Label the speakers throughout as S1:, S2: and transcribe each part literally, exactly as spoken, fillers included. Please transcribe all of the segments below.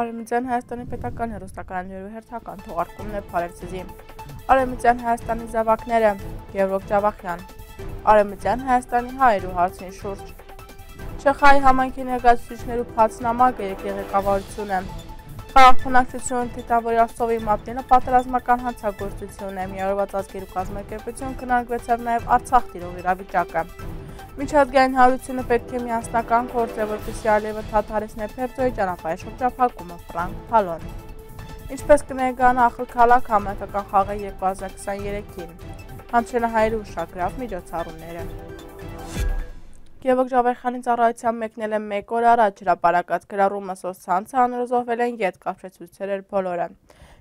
S1: Արևմտյան Հայաստանի պետական հեռուստակայաններու հերթական թողարկումն է Փարեզի։ Արևմտյան Հայաստանի զավակները Գևորգ Ջավախյան։ Արևմտյան Հայաստանի հայերու հարցին շուրջ։ Չեխայի համայնքի ներկայացուցիչներու փացնամակը ղեկավարությունը։ Խաղաղապահություն թիթավորի Ասովի մատնելը պատերազմական հանցագործություն է, միավորված ազգերու կազմակերպություն քննարկվեցավ նաև Արցախ տիրող իրավիճակը։ Միջազգային հանրությունը պետք է միասնական գործ է, որպեսզի Ալիևը դադարեցնի Փերձոյի ճանապարհի շրջափակումը Ֆրանկ Փալոն։ Ինչպես կներկայանա ախր քաղաք համայնքական խաղը երկու հազար քսաներեքին։ Հանցելահայերի ուշագրավ միջոցառումները։ Գևորգ Ջավախյանի ծառայության մեկնել է մեկ օր առաջ հրապարակած գրառումը սոցցանցը անորոշվել են ետ կապչեցուցել էր բոլորը։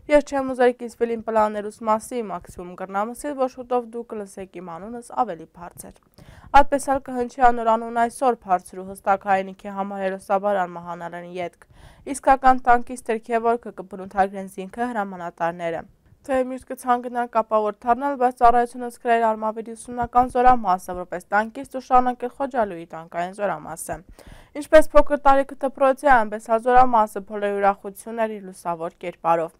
S1: Ես չեմ ուզել կիսվել իմ պլաններուս մասի մաքսիմում կրնամսել, որ շուտով դու կլսեք իմ անունս ավելի բարձր։ Այդպես էլ կհնչի անոր անուն այսօր բարձր ու հստակ հայրենիքի համար հերոսաբարան մահանալն ետք։ Իսկական տանկիստեր Գևորգը կբնութագրեն զինքը հրամանատարները։ Թե միշտ կցանկանան կապավոր դառնալ, բայց ծառայությունը սկրել արմավիրի ուսումնական զորամասը, որպես տանկիստ ու շարունակել Խոջալույի տանկային զորամասը։ Ինչպես փոքր տարիքը դպրոցի, այնպես էլ զորամասը բոլորի ուրախությունն էր իր լուսավոր կերպարով։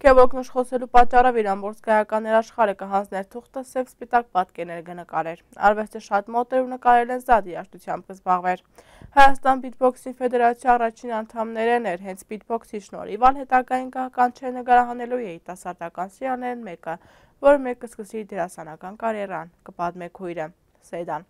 S1: Գևորգն ուշխոսելու պատճառով իր ամբողջ գայական աշխարհը կհանձներ թուղթը սև սպիտակ պատկերներ կնկարեր։ Արվեստը շատ մոտ էր ու նկարել են զատ երաժշտությամբ կզբաղվեր։ Հայաստան բիթբոքսի ֆեդերացիայի առաջին անդամներն էր, հենց բիթբոքսի շնորհիվ ալ հետագային կանչել նկարահանելու երիտասարդական սիրահարներն մեկը, որը մեկ կսկսի դերասանական կարիերան, կպատմե քույրը Սեյդան։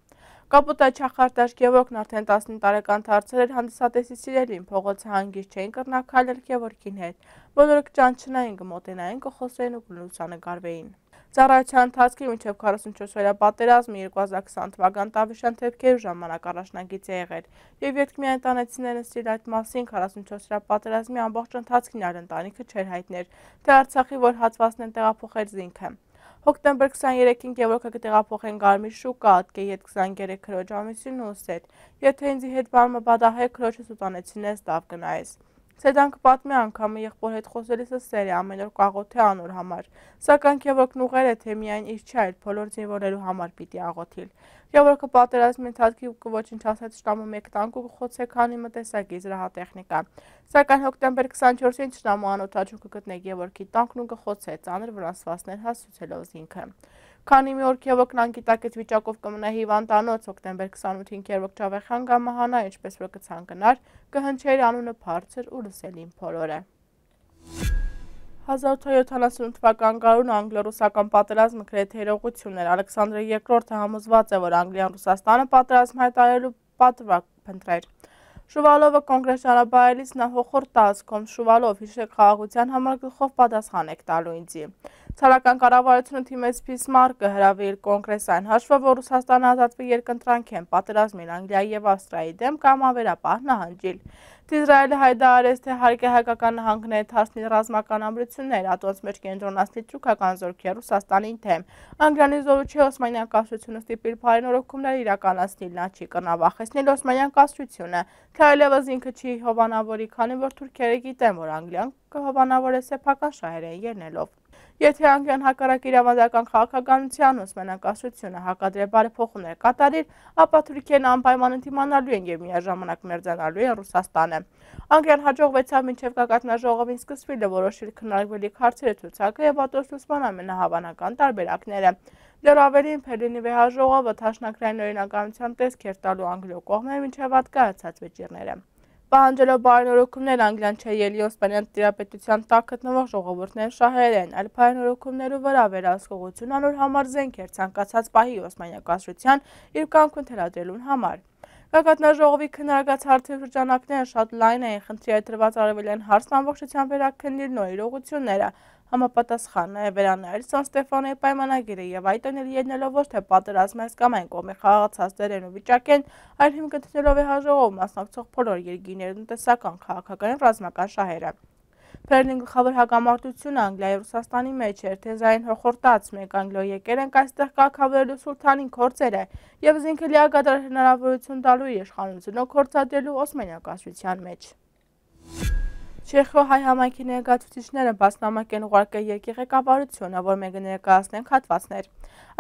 S1: Կապուտայի չախարտաշ Գևորգն արդեն տասնինը տարեկան դարձել էր հանդիսատեսի սիրելին, փողոցը հանգիստ չէին կրնակայել Գևորգին հետ, բոլորը կճանչնային, կմոտենային, կխոսեին ու կլուսանկարվեին։ Ծառայության ընթացքի մինչև քառասունչորս օրյա պատերազմը երկու հազար քսան թվական տավիշյան դեպքերու ժամանակ առաջնագիծ է եղել, եւ երբ միայն տանեցիներն ստիլ այդ մասին քառասունչորս օրյա պատերազմի ամբողջ ընթացքին այլ ընտանիքը չէր հայտներ, թե Արցախի որ հատվածն են տեղափոխել զինքը։ Հոկտեմբեր քսաներեքին Գևորգը կտեղափոխեն Գարմիր շուկա, ատկե ետ քսաներեք քրոջ ամուսինն ու Սեդ, եթե ինձ հետ բանը բադահե քրոջս ու տանեցինես տավ կնայես։ Սեդան կպատմի անգամը եղբոր հետ խոսելիսը սեր է ամեն օր կաղոթե անոր համար, սակայն Գևորգն ուղղել է, թե միայն իր չէ, այլ բոլոր զինվորներու համար պիտի աղոթիլ։ Գևորգը պատերազմի ընթացքի կոչնչացած շտամը մեկ տանկ ու խոցե քանի մտեսակի զրահատեխնիկա։ Սակայն հոկտեմբեր քսաներորդ շտամը անօթաչու կգտնե Գևորգի տանկն ու կխոցե ծանր վնասվածքներ հասցուցելով զինքը։ Քանի մի օր Գևորգն անգիտակից վիճակով կմնա հիվանդանոց, հոկտեմբեր քսանութին Գևորգ Ջավախյան կմահանա, ինչպես որ կցանկանար, կհնչեր անունը բարձր ու լսելին բոլորը։ հազար ութ հարյուր յոթանասունութ թվական գարուն անգլո-ռուսական պատերազմը գրեթե իրողություն էր։ Ալեքսանդր երկրորդը համոզված է, որ Անգլիան Ռուսաստանը պատերազմ հայտարարելու պատվակ փնտրեր։ Շուվալովը կոնգրես ճանապարհելիս նա հոխորտ տազքում Շուվալով հիշեք խաղաղության համար գլխով պատասխան եք տալու ինձի։ Ցարական կառավարությունը թիմեց Բիսմարկը հրավիրել կոնգրես այն հաշվով, որ Ռուսաստանը ազատվի երկընտրանքեն պատերազմին Անգլիայի եւ Ավստրիայի դեմ կամ ավերապահ նահանջիլ։ Իսրայելը հայտարարեց, թե հարկ է հայկական նահանգները թարցնի ռազմական ամրություններ, ատոնց մեջ կենտրոնացնի թուրքական զորքեր Ռուսաստանին թեմ։ Անգլիանի զորուչի Օսմանյան կայսրությունը ստիպել փայնորոգումներ իրականացնել, նա չի կրնավախեցնել Օսմանյան կայսրությունը, թե այլևս ինքը չի հովանավորի, քանի որ թուրքերը գիտեն, որ Անգլիան կհովանավորե սեփական շահերեն ելնելով։ Եթե Անգլիան հակառակ իր ավանդական քաղաքականության Օսմանյան կայսրությունը հակադրե բարեփոխումներ կատարի, ապա թուրքերն անպայման ընդդիմանալու են եւ միաժամանակ մերձանալու են Ռուսաստանը։ Անգլիան հաջողվեցավ մինչև գագաթնաժողովին սկսվելը որոշել քննարկվելիք հարցերը ցուցակը եւ ատոստուսման ամենահավանական տարբերակները։ Դեռ ավելին Բերլինի վեհաժողովը թաշնակրային օրինականության տեսք էր տալու Անգլիո կողմերը մինչև հատկացած վեճիրները։ Պահանջելով բարենորոգումներ Անգլիան չէ ելի Օսմանյան տիրապետության տակ գտնվող ժողովուրդները շահերեն, այլ բարենորոգումներու վրա վերահսկողություն անոր համար զենք էր ցանկացած պահի Օսմանյան կայսրության իր կամքն թելադրելուն համար։ Գագաթնաժողովի քննարկած հարցերի շրջանակները շատ լայն էին, խնդրի այդ դրված արևելյան հարցն ամբողջությամբ վերաքննիլ նոր իրողությունները, համապատասխան նաև վերանայել Սան Ստեֆանոյի պայմանագիրը եւ այդ անել ելնելով ոչ թե պատերազմը կամ այն կողմի խաղացած դերեն ու վիճակեն, այլ հիմք գտնելով է հաջողով մասնակցող բոլոր երկիրներու տնտեսական, քաղաքական եւ ռազմական շահերը։ Բերլին գլխավոր հակամարտությունը Անգլիայի Ռուսաստանի մեջ էր, թեզային հոխորտած մեկ Անգլիո եկել են այստեղ կարգավորելու սուլթանին կորձերը եւ զինքը լիակատար հնարավորություն տալու իշխանությունը կորցատելու Օսմանյան կայսրության մեջ։ Չեխո հայ համայնքի ներկայացուցիչները բացնամակ են ուղարկել երկի ղեկավարությունը, որ մենք ներկայացնենք հատվածներ։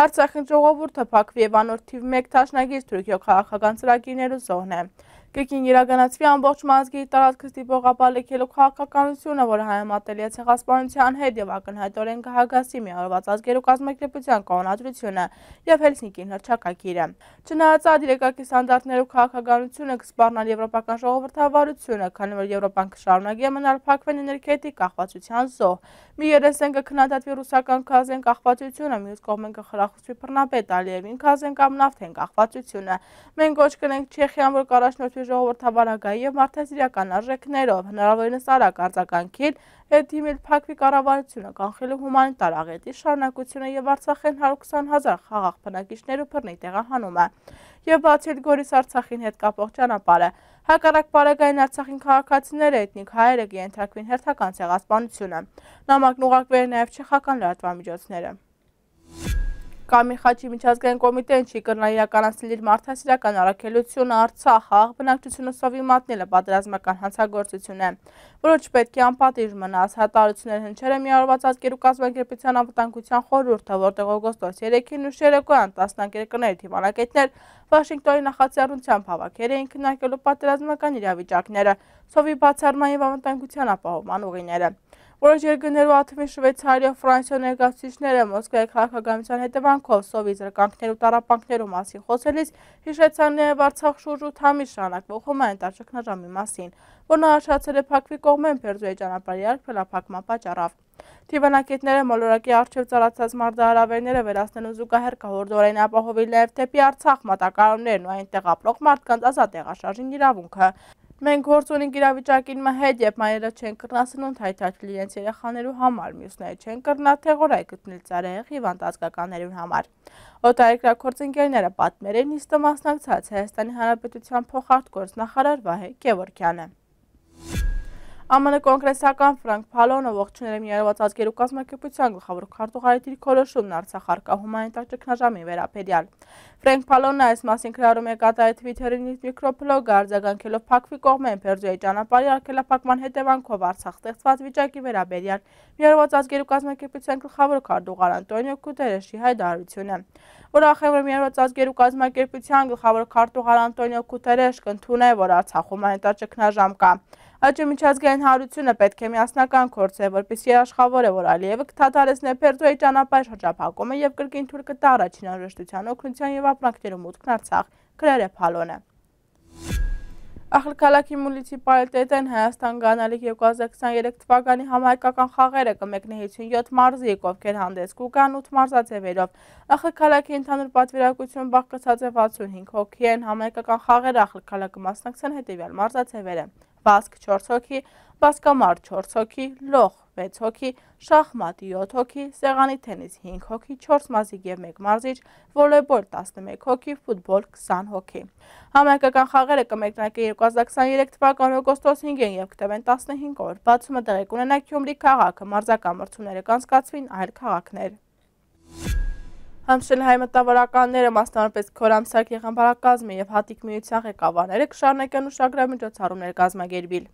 S1: Արցախի ժողովուրդը փակվի եւ անոր թիվ մեկ դաշնագիր Թուրքիո քաղաքական ծրագիրներու զոհն է։ Կրկին իրականացվի ամբողջ մազգի տարածքը ստիպող ապալեկելու քաղաքականությունը, որը համեմատելի է ցեղասպանության հետ եւ ակնհայտորեն կհագասի Միավորված ազգերու կազմակերպության կանոնադրությունը եւ Հելսինկին հռչակագիրը։ Չնայած այդ իրեկակի ստանդարտներու քաղաքականությունը կսպառնալ եվրոպական ժողովրդավարությունը, քանի որ Եվրոպան կշարունակի մնալ փակվեն էներգետիկ կախվածության զոհ։ Մի երեսեն կքննադատվի ռուսական գազեն կախվածությունը, մյուս կողմեն կխրախուսվի բռնապետ Ալիևին գազեն կամ նավթեն կախվածությունը։ Մենք ոչ կնենք Չեխիան, որ կառաջնորդվի ժողովրդավարական եւ մարդասիրական արժեքներով, հնարավորինս արագ արձագանքել, հետ դիմել փակվի կառավարությունը, կանխելու հումանիտար աղետի շարունակությունը եւ Արցախեն հարյուր քսան հազար խաղաղ բնակիչներու բռնի տեղահանումը եւ բացի այդ Գորիս Արցախին հետ կապող ճանապարհը։ Հակառակ Պարագային Արցախին քաղաքացիները էթնիկ հայերը կենթարկվին հերթական ցեղասպանությունը։ Նամակն ուղարկվել է նաեւ չեխական լրատվամիջոցները։ Կամիլ Խաչի միջազգային կոմիտեն չի կրնա իրականացնել իր մարդասիրական առաքելությունը Արցախ խաղաղ բնակչությունը սովի մատնելը պատերազմական հանցագործություն է, որը չպետք է անպատիժ մնաս։ Հատարություններ հնչել է Միավորված ազգերու կազմակերպության անվտանգության խորհուրդը, որտեղ օգոստոս երեքին ուշ երեկոյան տասնյակ երկրների թիմանակետներ Վաշինգտոնի նախաձեռնությամբ հավաքել էին քննարկելու պատերազմական իրավիճակները, սովի բացառման եւ անվտանգության ապահովման ուղիները։ Որոշ երկրներու աթվին Շվեյցարիա, Ֆրանսիա ներկայացուցիչները Մոսկվայի քաղաքականության հետևանքով սովի զրկանքներու տառապանքներու մասին խոսելիս հիշեցան նաև Արցախ շուրջ ութ ամիս շարունակվող հումանիտար ճգնաժամի մասին, որն առաջացել է փակվի կողմեն Պերձուի ճանապարհի արգելափակման պատճառով։ Թիվանակետները մոլորակի առջև ծառացած մարտահրավերները վերացնելու զուգահեռ կհորդորեն ապահովել նաև դեպի Արցախ մատակարարներն ու այնտեղ ապրող մարդկանց ազատ տեղաշարժին իրավունքը։ Մենք գործ ունենք իրավիճակին հետ, երբ մայրերը չեն կրնա սնունդ հայթայթել իրենց երեխաներու համար, մյուսները չեն կրնա թեղորայք գտնել ծառայեղ հիվանդ ազգականներուն համար։ Օտարերկրաքործընկերները պատմել են, նիստը մասնակցած Հայաստանի Հանրապետության փոխարտգործնախարար Վահե Գևորգյանը։ Է մ ն կոնգրեսական Ֆրանկ Փալոնը ողջունել է Միավորված ազգերու կազմակերպության գլխավոր քարտուղարի դիրքորոշումն Արցախ առկա հումանիտար ճգնաժամի վերաբերյալ։ Ֆրանկ Փալոնը այս մասին քրարում է կատարել Թվիթերին իր միկրոբլոգը արձագանքելով փակվի կողմեն Պերձուի ճանապարհի արգելափակման հետևանքով Արցախ ստեղծված վիճակի վերաբերյալ Միավորված ազգերու կազմակերպության գլխավոր քարտուղար Անտոնիո Գուտերեշի հայտարարությունը։ Ուրախ եմ, որ Միավորված ազգերու կազմակերպության գլխավոր քարտուղար Անտոնիո Գուտերեշ կընդունի, որ Արցախ հումանիտար ճգնաժամ կա։ Այդ միջազգային հարությունը պետք է միասնական գործել, որպեսզի երաշխավորե, որ Ալիևը կդադարեցնի Պերձուի ճանապարհի շրջափակումը եւ կրկին թույլ կտա առաջին անհրաժեշտության օգնության եւ ապրանքներու մուտքն Արցախ, գրել է Փալոնը։ Ախալքալաքի մունիցիպալիտետեն Հայաստան գանալիք երկու հազար քսաներեք թվականի համահայկական խաղերը կմեկնի հիսունյոթ մարզիկ, ովքեր հանդես կուգան ութ մարզաձևերով։ Ախալքալաքի ընդհանուր պատվիրակություն բաղկացած է վաթսունհինգ հոգի են, համահայկական խաղերը Ախալքալաքը մասնակցեն հետևյալ մարզաձևերը՝ բասկ չորս հոգի, բասկամար չորս հոգի, լոխ վեց հոգի, շախմատ յոթ հոգի, սեղանի թենիս հինգ հոգի, չորս մազիկ եւ մեկ մարզիչ, վոլեյբոլ տասնմեկ հոգի, ֆուտբոլ քսան հոգի։ Համահայկական խաղերը կմեկնարկեն երկու հազար քսաներեք թվականի օգոստոս հինգին եւ կտևեն տասնհինգ օր։ Բացումը տեղի կունենա Գյումրի քաղաքը, մարզական մրցումները կանցկացվին այլ քաղաքներ։ Համշել հայ մտավորականները, մասնավորապես Քորամսակ եղամբարակազմի եւ Հատիկ միության ղեկավարները կշարունակեն ուշագրավ միջոցառումներ կազմակերպել։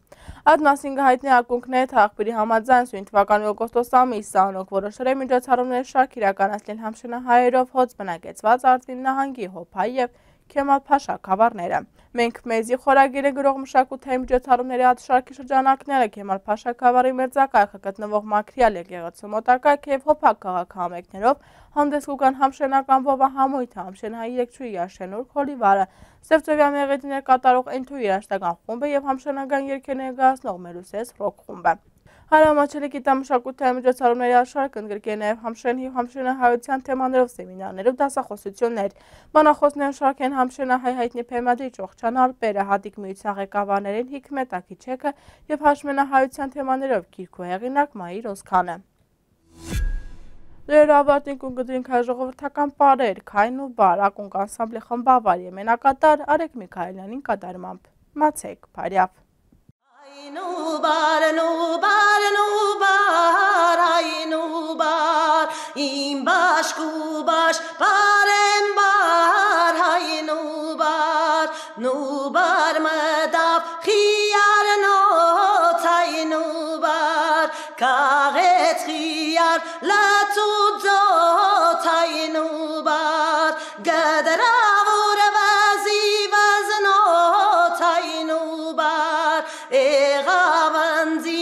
S1: Այդ մասին կհայտնի ակունքները թաղբերի համաձայն սույն թվականի օգոստոս ամիսը անոնք որոշել են միջոցառումների շարք իրականացնել Համշենահայերով հոծ բնակեցված Արտվիլ նահանգի Հոփայ եւ Քեմալ Փաշա գավառները։ Մենք մեզի խորագիրը գրող մշակութային միջոցառումների աթշարքի շրջանակները Քեմալ Փաշա գավառի մերձակայքը գտնվող Մաքրիալ եկեղեցու մոտակայքը եւ Հոփակ քաղաքահամերգներով հանդես կգան համշենական ովահամույթը, Համշենահայի երգչուհի Աշենուր Խոլիվարը, Սևծովյան մեղեդիներ կատարող Էնթույի երաժշտական խումբը եւ համշենական երգեր ներկայացնող Մելուսես ռոք խումբը։ Հարամաչելի գիտամշակութային միջոցառումների աշխարհը ընդգրկել է նաև համշեն և համշենահայության թեմաներով սեմինարներ ու դասախոսություններ։ Բանախոսներն շարք են համշենահայ հայտնի բեմադրիչ Օղչան Ալպերը, Հատիկ միության ղեկավարներին Հիկմետ Աքիչեկը եւ համշենահայության թեմաներով գիրք ու հեղինակ Մայիր Օսքանը։ Լրերը ավարտին կունգդրինք հայժողովրդական պարեր, քայն ու բար, ակունք անսամբլի խմբավար եմենակատար Արեգ Միքայելյանին կատարմամբ։ Մացեք, Փարյավ։
S2: Nubar, nubar, nubar, ay nubar, imbaş kubaş, parem bar, ay nubar, nubar madaf, khiyar not, ay nubar, karet khiyar, la tuzot, ay nubar, gadra vur vazi vaznot, ay եղավ անձի